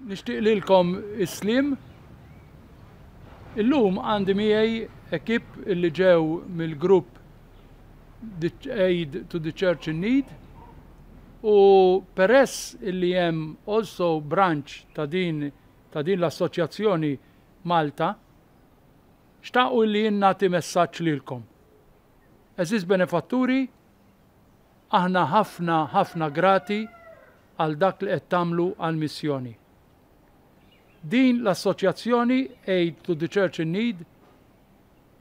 Nixtieq lilkom is-sliem. Illum għandi miegħi ekip illi ġew mill-grupp Aid to the Church in Need u peress illi hemm also branch ta' din ta' din l-assoċjazzjoni Malta, xtaqu illi jien nagħti messaġġ lilkom. Għeżież benefatturi, aħna ħafna ħafna grati għal dak li qed tagħmlu għall-missjoni. Din l-assoċjazzjoni Aid to the Church in Need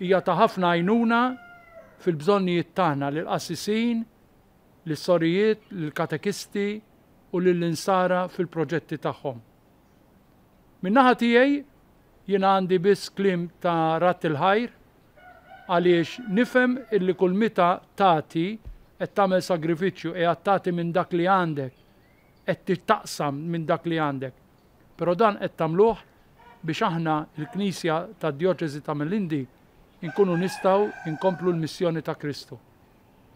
hija ta' ħafna għajnuna fil-bżonnijiet tagħna lill-qassisin, lis-sorijiet, lill-katekisti u lill-insara fil-proġetti tagħhom. Min-naħa tiegħi jiena għandi biss kliem ta' radd il-ħajr għaliex nifhem illi kull mita tagħti qed tagħmel sagrifiċċju, qiegħed tagħti minn dak li għandek, qed taqsam minn dak li għandek. Però dan qed tagħmluh biex aħna l-Knisja tad-Djoċesi ta' Melindi nkunu nistgħu nkomplu l-missjoni ta' Kristu.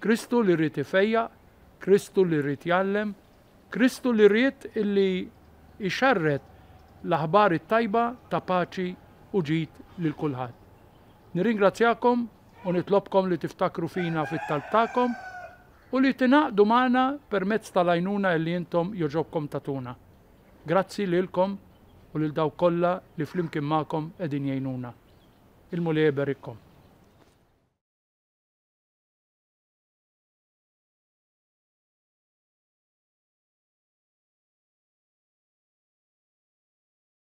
Kristu li ried ifejjaq, Kristu li ried jgħallem, Kristu li ried illi jxerred l-aħbar it-tajba ta' paċi u ġid lil kulħadd. Nirringrazzjakom u nitlobkom li tiftakru fina fit-talb tagħkom u li tingħaqdu magħna permezz tal-għajnuna illi intom jogħġobkom tagħtuna. Grazzi lilkom u lil dawk kollha li flimkien magħkom qegħdin jgħinuna. Il-Mulej iberikkom.